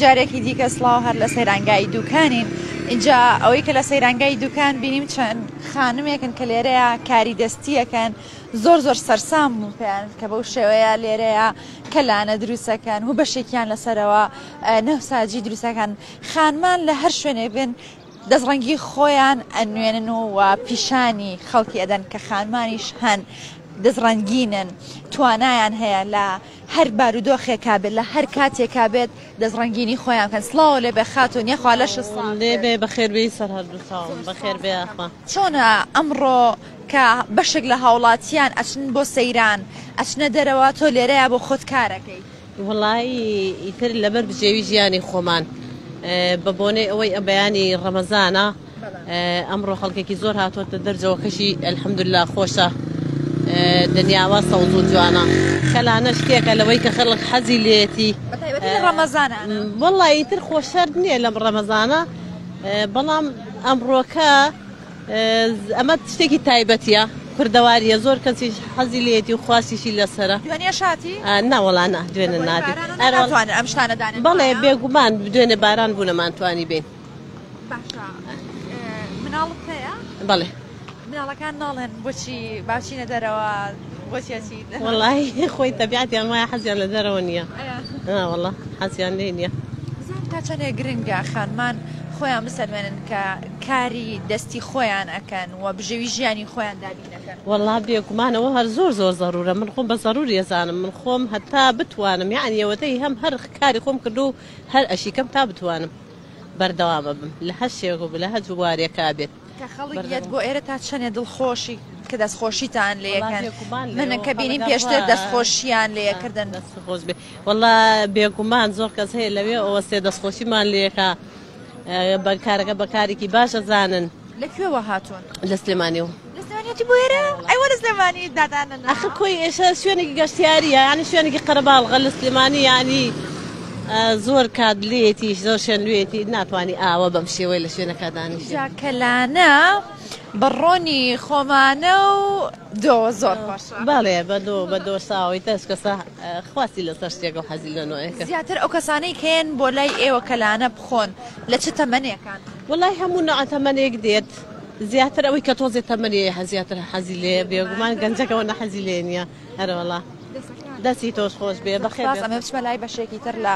جارێکی دیکە سڵاو هەر لە سەیرانگای دوکانین اینجا ئەوەی کە لە سەیرانگای دوکان بینیم چەند خانمێکن کە لێرەیە کاری دەستیەکەن زۆر زۆر سەرسام بووم پێیان کە بەو شێوەیە لێرەیە کەلانە دروستەکەن و بەشێکیان لەسەرەوە نەوساجی دروستەکەن خانمان لە هەر شوێنێک بن دەستڕەنگی خۆیان ئەنوێنن و و پیشانی خەڵکی ئەدەن کە خانمانیش هەن دەستڕەنگینن توانایان هەیە لە هەر بارودۆخێکا بێت لە هەر کاتێکا بێت دەستڕەنگینی خۆیان بکەن سڵاو لێ بێ خاتوون یەخوا لەشت ساغ لێ بێ بەخێر بێی سەر هەردوو چاوم بەخێر بێ یاخوا. چۆنە ئەمڕۆ کە بەشێک لە هاوڵاتیان ئەچن بۆ سەیران ئەچنە دەرەوە تۆ لێرەیا بۆ خۆت کارەکەی؟ وەڵایی ئیتر لەبەر بژێوی ژیانی خۆمان بە بۆنەی ئەوەی بەیانی ڕەمەزانە ئەمڕۆ خەڵکێکی زۆر هاتووەتە دەرجەوە کەشی الحمدللە خۆشە دنیاوە سەوز و جوانە کەلانە شتێکە لەوەی کە خەڵک حەزی لێتی بەتایبەتی لە ڕەمەزانە وەڵایی ئیتر خۆشەر نییە لەم ڕەمەزانە بەڵام ئەمڕۆکە ئەمە شتێکی تایبەتیە کوردەواریە زۆر کەسیش حەزی لێتی و خواستیشی لەسەرە. دوێنێش هاتی؟ نا وەڵا نا دوێنێ ناتی. ناتوانن ئەم شتانە دانێن؟ بەڵێ بێگومان دوێنێ باران بوو نەمانتوانی بێین. باشە مناڵت هەیە؟ بەڵێ. مناڵەکان ناڵێن بۆچی باچینە دەرەوە بۆچی ئەچین؟ وەڵی خۆی تەبیعەتیان وایە حەزیان لە دەرەوە نییە. وەڵا حەزیان لێ نییە. بزانم تا چەندێک گرنگە خانمان خۆیان بسەلمێنن کە کاری دەستی خۆیان ئەکەن و بژێوی ژیانی خۆیان دابین ئەکەن. وەڵا بێگومان ئەوە هەر زۆر زۆر زەرورە من خۆم بە زەروری ئەزانم من خۆم هەتا بتوانم یەعنی ئەوەتەی هەم هەر کاری خۆم کردو و هەر ئەشیکەم تا بتوانم بەردەوام ئەبم لە هەر شێک و لە هەر بوارێکا بێت. کە خەڵک یەت بۆ ئێرە تا چەنێ دڵخۆشی کە دەستخۆشیتان لێ ئەکەن من کە بینیم پێشتر دەستخۆشیان لێ ئەکردن. دەست خۆش بێ وەڵا بێگومان زۆر کەس هەیە لەوێ ئەوەستێ دەستخۆشیمان لێکا بە کارەکە بە کارێکی باش ئەزانن. لە کوێوە هاتوون؟ لە سلێمانیەوە. لە سلێمانیەتی بۆ ئێرە؟ ئەی وە لە سلێمانی دادانن؟ ئەخر کۆی ئێشە شوێنێکی گەشتیاریە یانی شوێنێکی قەرەباڵغە لە سلێمانی یانی زۆر کات لێتی زۆر شوێن لێتی ناتوانانی ئاوە بەم شێوەی لە شوێنەکە دانیشی. جا کەلانە بە ڕۆنی خۆمانە و دۆ زۆر خۆشە. بەڵێ بە دۆ بە دۆشاوی تەش کەسە خواستی لەسەر شتێکە و حەزی لە نوعێکە. زیاتر ئەو کەسانەی کە یەن بۆ لای ئێوە کەلانە بخۆن لە چ تەمەنێکان؟ وەڵای هەموو نوعە تەمەنێک دێت زیاتر ئەوەی کە تۆزێ تەمەنی هەیە زیاتر حەزی لێیە بێگومان گەنجەکە ئەوەندە حەزی لێ نییە ئەرەوەڵا دەستی تۆش خۆش بێ بەخێر سپاس ئەمە بچمە لای بەشێکی تر لە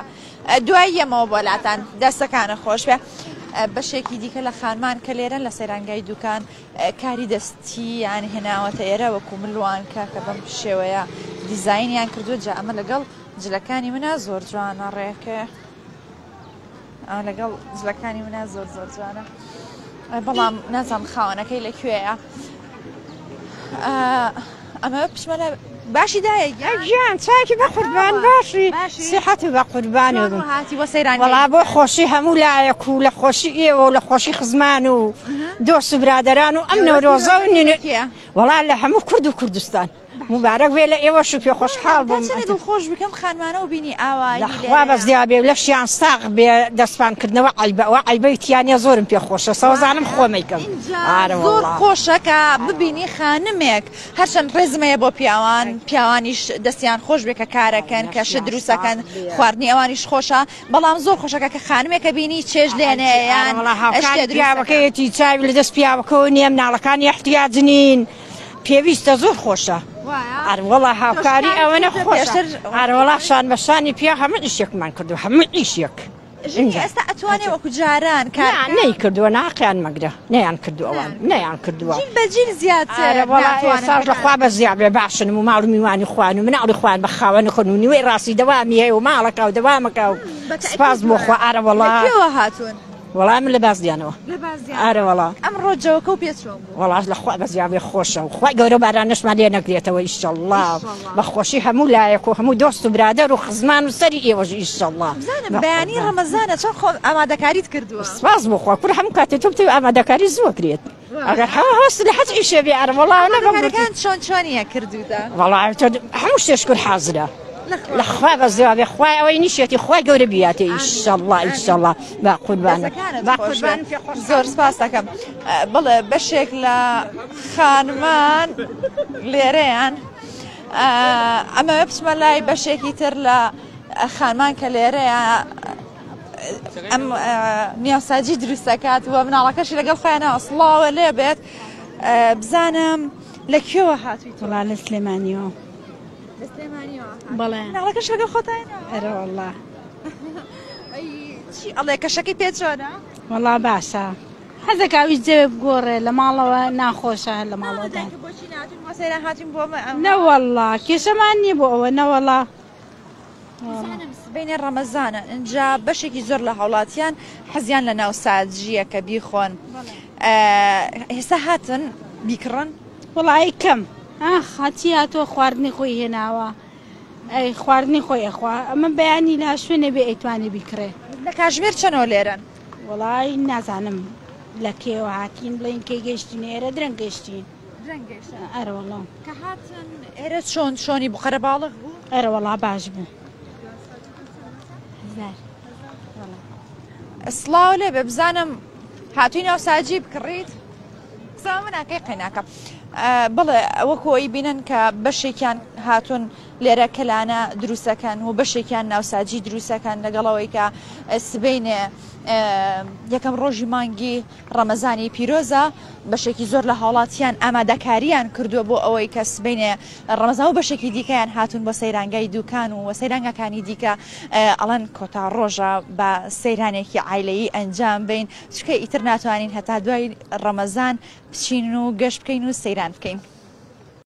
دوای یەمەوە بۆ لاتان دەستەکانە خۆش بێ بەشێکی دیکە لە خانمان کە لێرەن لە سەیرانگای دوکان کاری دەستیان هێناوەتە ئێرە وەکو ملوانکە کە بەم شێوەیە دیزاینیان کردووە جا ئەمە لەگەڵ جلەکانی منە زۆر جوانە ڕێکێ ئەمە لەگەڵ جلەکانی منە زۆر زۆر جوانە بەڵام نازانم خاوەنەکەی لە کوێیە ئەمە بچمە لە باشی دایە گیان چاکی بە قوربان باشی سیحەت بە قوربان هاتی بۆ سەیران وەڵا بۆ خۆشی هەموو لایەک و لە خۆشی ئێوە و لە خۆشی خزمان و دۆست و برادەران و ئەم نەورۆزە و وەڵا لە هەموو کورد و کوردستان موبارەک بێ لە ئێوەش و پێ خۆشحاڵ بووم. تا چەنێ دڵخۆش بکەم خانمانە و بینی ئاوایی لە خوا لێرەیە. بەزیا بێ و لەشیان ساغ بێ دەستپان کردنەوە عەیبە ئەوە عەیبەی تیا نیە زۆرم پێ خۆشە سەوزانم خۆمەیکەم ئینجا ئارە زۆر وەڵا. خۆشە کە ببینی خانمێک هەرچەند ڕێزم هەیە بۆ پیاوان پیاوانیش دەستیان خۆش بێ کە کارەکەن کە شت لەشیان دروست ساغ ئەکەن بێ. خواردنی ئەوانیش خۆشە بەڵام زۆر خۆشە کە خانمێکە بینی چێژ لێنێ ئارە یان وەڵا شتێ هاوکاری دروست ئەکا. پیاوەکەیەتی چاوی لە دەست پیاوەکەوە نیە مناڵەکانی احتیاج نین. پێویستە زۆر خۆشە ئەروەڵا هاوکاری ئەوەنە خۆشە ئەروەڵا شان بە شانی پیا هەموو ئیشێکمان کردو هەموو ئیشێک ئێستا ئەتوانێ وەکو جاران کار نەی کردووە ناقیان مەگرە نەیان کردو ئەوان نەیان کردووە جیل بە جیل زیاتر ئێستاش لە خوا بە زیاد بێ باشن و ماڵ و میوانی خوان و مناڵی خوان بە خاوەنی خۆن و نیوەی ڕاستی دەوامی هەیە و ماڵەکە و دەوامەکە و سپاس بۆ خوا ئارەوەڵا لەکوێوە هاتوون؟ وەڵا من لە بازیانەوە. لە بازیان. ئارە وەڵا. ئەمڕۆ جەوەکە و پێ چۆن بوو؟ وەڵا لە خوا بەزیابێ خۆشە و خوای گەورە بارانەشمان لێ نەگرێتەوە ئیشەڵڵا بە خۆشی هەموو لایەک و هەموو دۆست و برادەر و خزمان و سەری ئێوەش ئیشەڵڵا. بزانم بەیانی ڕەمەزانە چۆن خۆ ئامادەکاریت کردووە؟ سپاس بۆ خوا کورە هەموو کاتێ تۆ بتەوێ ئامادەکاری زوو ئەکرێت ئەگەر هەست لە هەچ ئیشێ بێ ئەرە وەڵا نە بەم ئامادەکاریەکان چۆن چۆنیە کردووتە؟ وەڵا هەموو شتێ شکر حازرە. لە خوا بەزیابێ خوای ئەوەی نیشێتی خوای گەورە بیاتێ ئیشەڵڵا ئیشەڵڵا با قوربانت با قوربانت پێ خۆش زۆر سپاس دەکەم بەڵێ بەشێک لە خانمان لێرەیان ئەمەوێ بچمە لای بەشێکی تر لە خانمان کە لێرەیە. ئەم نیاساجی دروستەکات و مناڵەکەشی لەگەڵ خۆیانەوە سڵاوە لێ بێت بزانم لە کوێوە هاتووی وڵا لە سلێمانیەوە. لە سلێمانیەوە بەڵێ. مناڵەکەش لەگەڵ خۆتانەوە؟ ئەرە وەڵا. چی ئەڵێ کەشەکەی پێ چۆنە؟ وەڵا باشە. حەزەکا ویست جەوێ بگۆڕێ لە ماڵەوە ناخۆشە هەر لە ماڵەوە دان. بۆچی ناتون بۆ سەیران هاتین بۆ نەوەڵا کێشەمان نییە بۆ ئەوە نەوەڵا. بزانم سبەینێ ڕەمەزانە ئینجا بەشێکی زۆر لە هاوڵاتیان حەزیان لە ناوساجییە کە بیخۆن ئێستا هاتن بیکڕن؟ وەڵایی کەم ئاخ هەچی هاتووە خواردنی خۆی هێناوە ئەی خواردنی خۆی ئەخوا ئەمە بەیانی لە شوێنێ بێ ئەیتوانێ بیکڕێ. لە کاژمێر چەنەوە لێرەن؟ وەڵای نازانم لە کێوە هاتین بڵێین کەی گەیشتین ئێرە درەنگ گەیشتین. درەنگ گەیشتن. ئەرەوەڵا. کە هاتن ئێرە چۆن چۆنی بوو قەرەباڵغ بوو؟ ئەرەوەڵا باش بوو. سڵاو لێ بێ بزانم هاتووی ناوساجی بکڕیت؟ قسە من ناکەی قەیناکە. بەڵێ وەکو ئەوی بینن کە بەشێکیان هاتوون لێرە کەلانە دروستەکەن و بەشێکیان ناوساجی دروستەکەن لەگەڵەوەی کە سبەینێ یەکەم ڕۆژی مانگی ڕەمەزانی پیرۆزە، بەشێکی زۆر لە هاوڵاتیان ئامادەکاریان کردووە بۆ ئەوەی کە سبەینێ ڕەمەزان و بەشێکی دیکەیان هاتوون بۆ سەیرانگای دوکان و سەیرانگاکانی دیکە ئەڵێن کۆتا ڕۆژە بە سەیرانێکی عایلەیی ئەنجام بەین چونکە ئیتر ناتوانین هەتا دوای ڕەمەزان بچین و گەشت بکەین و سەیران بکەین.